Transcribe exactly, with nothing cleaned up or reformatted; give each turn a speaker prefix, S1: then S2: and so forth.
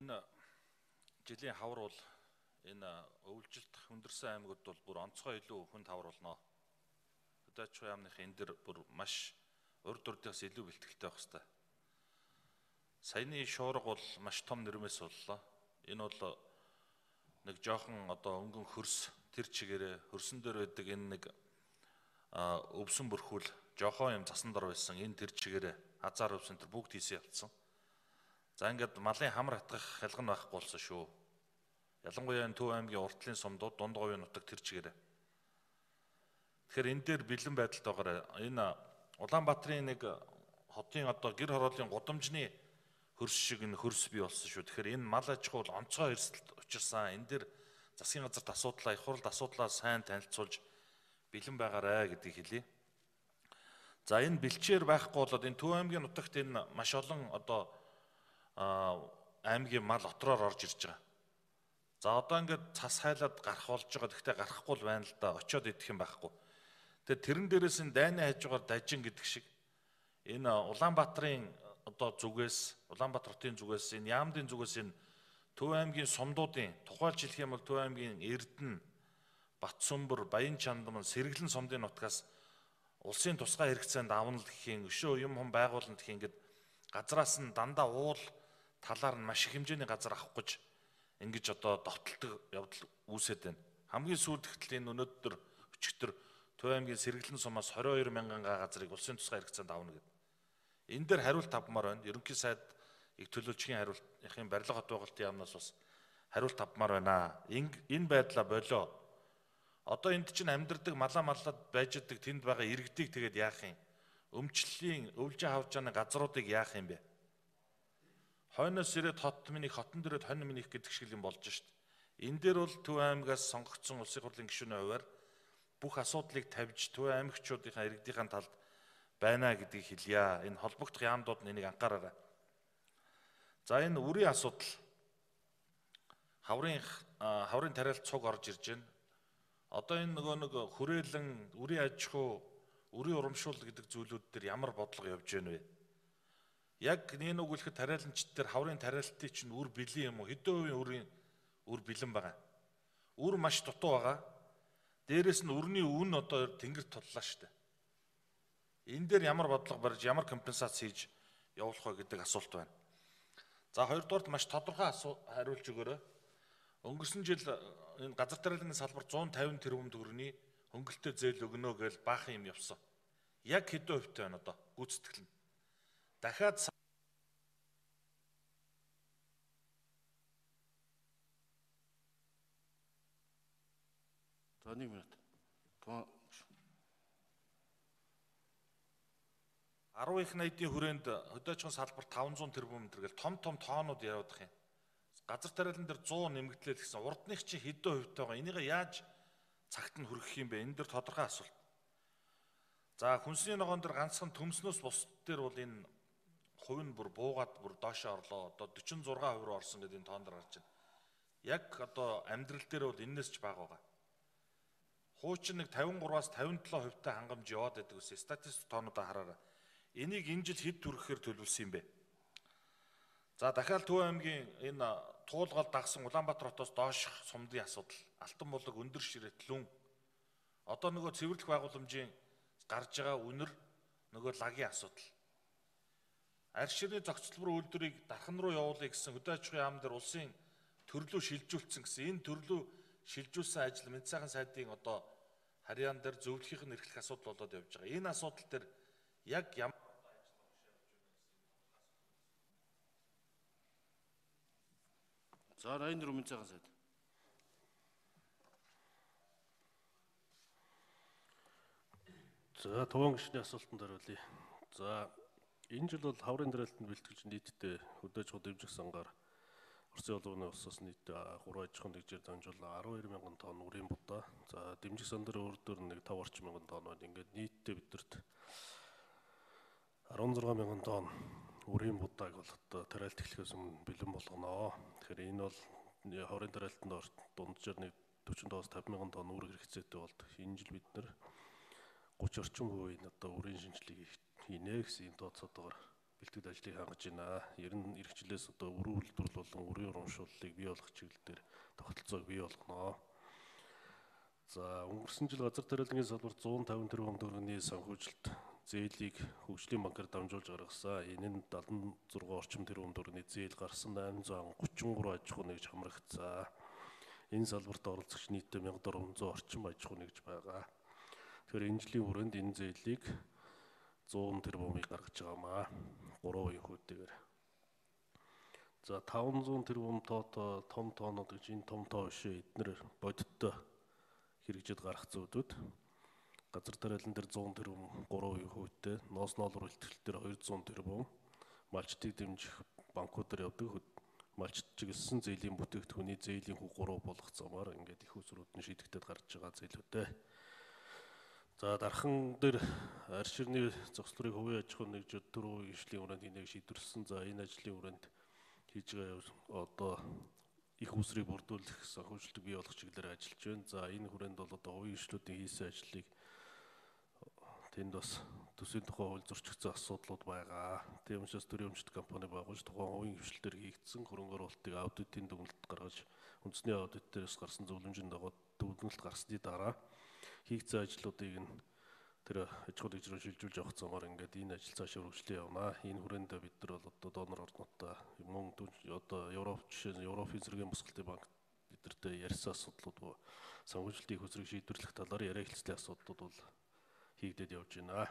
S1: Энэ жилийн хавар бол энэ өвлжилт хүндэрсэн аймагуд бол бүр онцгой илүү хүнд хавар болно. Хөдөөчгүй яамных энэ дэр бүр маш урд урдаас илүү бэлтгэлтэй байх хэвээр. Саяны шуурга бол маш том нэрмээс боллоо. Энэ бол нэг жоохон одоо өнгөн хөрс тэр чигээрээ хөрсөн дээр байдаг энэ нэг өвсөн бүрхүүл жоохон юм засан дор байсан энэ тэр чигээрээ хазаар өвсөн тэр бүгд хийсэн явцсан. За ингээд малын хамар хатгах хялган байхгүй болсон шүү. Ялангуяа энэ Төв аймгийн уртлын сумдууд дунд говийн нутаг тэр чигээрээ. Тэгэхээр энэ дээр бэлэн байдалд байгаарай. Энэ Улаанбаатарын нэг хотын одоо гэр хорооллын гудамжны хөрс шиг энэ хөрс бий болсон шүү. Тэгэхээр энэ мал аж ахуй бол онцгой эрсдэлд учирсан. Энэ дээр засгийн газарт асуудлаа, их хурлд асуудлаа сайн танилцуулж бэлэн байгаарай гэдгийг хэлье. За энэ бэлчээр байхгүй болоод энэ Төв аймгийн нутагт энэ маш олон одоо аймгийн мал отроор орж ирж байгаа. За одоо ингээд цас хайлаад гарах болж байгаа. Гэхдээ гарахгүй л байна л да. Очиод идэх юм байхгүй. Тэгээ тэрэн дээрээс энэ дайны хажуугаар дажин гэдэг шиг энэ Улаанбаатарын одоо зүгээс, Улаанбаатар хотын зүгээс, энэ Яамдын зүгээс энэ Төв аймгийн сумдуудын тухайлж хэлэх юм бол Төв аймгийн Эрдэнэ, Батсүмбэр, Баян Чандман, Сэргэлэн сумдын нутгаас улсын тусгай хэрэгцээнд авна л гэхийн өшөө юм хум байгуулна гэх ингээд газраас нь дандаа уул талаар нь маш их хэмжээний газар авах гэж ингэж одоо довтолдог явдал үүсэт байна. Хамгийн сүүлд гэтэл энэ өнөөдөр өчигдөр Төв аймгийн Сэргэлэн сумаас двадцать two мянган га газрыг улсын тусгай хэрэгцээнд авна гэдэг. Энэ дээр хариулт авмаар байна. Ерөнхий сайд их төлөөлчгийн хариултын барилга хот байгуулалтын яамнаас бас хариулт авмаар байна. Энэ байдлаа болоо. Одоо энд чинь амьдардаг малаа маллаад байж идэг тэнд байгаа иргэдийг тэгээд яах юм? Өмчлөлийн өвлжин хавжааны газруудыг яах юм бэ? Хойноос ирээд хот минийх, хотон дээрээ хонь минийх гэдэг шиг юм болж шít. Энэ дээр бол Төв аймгаас сонгогдсон улсын хурлын гишүүний хувьар бүх асуудлыг тавьж Төв аймагчуудынхаа иргэдийн талд байна гэдгийг хэлье. Энэ холбогдох яамдууд нь энийг анхаараарай. За энэ үрийн асуудал. Хаврын хаврын тариалт цуг орж ирж байна. Одоо энэ нөгөө нэг хүрээлэн, үрийн аж ахуй, үрийн урамшуул гэдэг зүйлүүд дээр ямар бодлого явж байна вэ? Яг нэг үгэлэхэд тариаланчид дээр хаврын тариалтын чинь үр бэлэн юм уу? Хэдэн хувийн үрийн үр бэлэн байгаа? Үр маш дутуу байгаа. Дээрээс нь үрний үн одоо тэнгэрт туллаа шүү дээ. Энэ дээр ямар бодлого барьж, ямар компенсац хийж явуулах вэ гэдэг асуулт байна. За хоёрдугаарт маш тодорхой хариулж өгөөрэй. Өнгөрсөн жил энэ газар тариалангийн салбар one fifty тэрбум төгрөгийн хөнгөлөлтөд зээл өгнө гэж баахан юм явсан. Яг хэдэн хувьтай байна одоо гүйцэтгэл нь. Дахиад
S2: За нэг минут.
S1: арван их найдын хүрээнд хөдөөчгөн салбар five hundred тэрбум тэргээл том том тоонууд явуудах юм. Газар тариалан дээр one hundred нэмэгдлээ гэсэн урдных чинь хэдэн хувьтай байгаа. Энийг яаж цагт нь хүргэх юм бэ? Энэ дээр тодорхой асуулт. За хүнсний ногоон дээр ганцхан төмснөөс бус дээр бол энэ хувь нь бүр буугаад бүр доошоо орлоо. Одоо forty-six percent руу орсон гэдэг энэ тоон дээр гарч байна. Яг одоо амьдрал дээр бол энэс ч бага байгаа. Хуучин нэг fifty-three-аас fifty-seven хувьтай хангамж яваад байдаг гэсэн статистик тоонуудаа хараарай. Энийг энэ жил хэд төрөхээр төлөвлөсөн юм бэ? За дахиад Төв аймгийн энэ туулгал дагсан Улаанбаатар хотоос доош сумдын асуудал, Алтан булаг, Өндөр Ширээ, Лүн. Одоо нөгөө цэвэрлэх байгууламжийн гарч байгаа үнэр нөгөө лагийн асуудал. Арь ширний зохицолбор үйлдвэрийг дархан руу явуулъя гэсэн хөдөө аж ахуйн яам дээр улсын төрлөө шилжүүлсэн гэсэн энэ төрлөө шилжүүлсэн ажил Мэд сайхан сайдын одоо харьяан дээр зөвлөхийнх нь эрхлэх асуудал болоод явж байгаа. Энэ асуудал дээр яг ямар
S2: За Райнер Мэд сайхан сайд.
S3: За туван гишний асуултанд хариулъя. За энэ жил бол хаврын тариалтанд бэлтгэж нийтдээ хөдөөж хот дэмжих сангаар Орсын улууны улсаас нийтдээ three аж ахуйн нэгжээр дамжуулан twelve мянган тонн үрийн будаа. За дэмжих сан дээр өөрөөр нэг five орчим мянган тонн байна. Ингээд нийтдээ биднэрт sixteen мянган тонн үрийн будааг бол одоо тариалт эхлэхээс өмнө бэлэн болгоно. Тэгэхээр энэ бол хаврын тариалтанд дунджаар нэг forty-five-аас fifty мянган тонн үр хэрэгцээтэй болд. Энэ жил бид нэр thirty орчим хувийн одоо үрийн шинжилгээг хийнэ гэсэн энэ тооцоотойгоор бэлтгэл ажлыг хангаж байна. Ер нь эх жилээс одоо өрийн үйлдвэрлэл болон өрийн урамшууллыг бий болгох чиглэл дээр тогтолцоог бий болгоно. За өнгөрсөн жил газар тариалангийн салбарт зуун тавин тэрбум төгрөгийн санхүүжилт зээлийг хөгжлийн банкар дамжуулж гаргасан. Энэ нь дадлан зургаан орчим тэрбум төгрөгийн зээл гарсан айман зуун гучин гурван аж ахуй нэгж хамрагдсан. Энэ салбарт оролцогч нийтдээ мянга дөрвөн зуун орчим аж ахуй нэгж байгаа. Тэгэхээр энэ жилийн хүрээнд энэ зээлийг зуун тэрбумыг гаргаж байгаамаа. гурван үеийн хүүтэйгээр. За таван зуун тэрбум тоотой том тоонууд гэж энэ том тоо биш эднэр бодиттой хэрэгжиж гарах зүйдүүд. Газар тариалан дээр зуун тэрбум гурван үеийн хүүтэй, ноос ноолор бэлтгэл дээр хоёр зуун тэрбум, малчтыг дэмжих банкудаар явдаг малчт чиглэсэн зээлийн бүтээгдэхүүний зээлийн хүү гурав болох замаар ингээд их усрууд нь шийдэгдээд гарч байгаа зээлүүдтэй. За дархан дээр арь ширний зохицлыг хувийн аж ахуй нэгжүүд төрөө ишлийн хүрээнд энийг шийдвэрлсэн. За энэ ажлын хүрээнд хийж байгаа одоо их усрыг бүрдүүлэх санхүүжилтийг бий болгох чиглэлээр ажиллаж байна. За энэ хүрээнд бол одоо хувийн ишлүүдийн хийсэн ажлыг тэнд бас төсвийн тухай хууль зөрчигдсөн асуудлууд байгаа. Тийм учраас төрийн өмчт компани байгуулж тухайн хувийн хвшилтээр хийгдсэн хөрөнгө оруулалтыг аудитын дүгнэлт гаргаж үндэсний аудит дээрээс гарсан зөвлөмжийн дагуу дүгнэлт гарсны дараа хийгдсэн ажлуудыг нь тэр аж ахуй нэгжрүү шилжүүлж явах замаар ингээд энэ ажил цаашаа үргэлжлэн явна. Энэ хүрээнд бид нар бол одоо донор орнуудаа мөн одоо Европ жишээ нь Европын зэргийн босголтын банк бидэртэй ярьсан асуудлууд санхүүжилтийн их усрыг шийдвэрлэх талаар яриа хэлцлийн асуудлууд бол хийгдээд явж байна.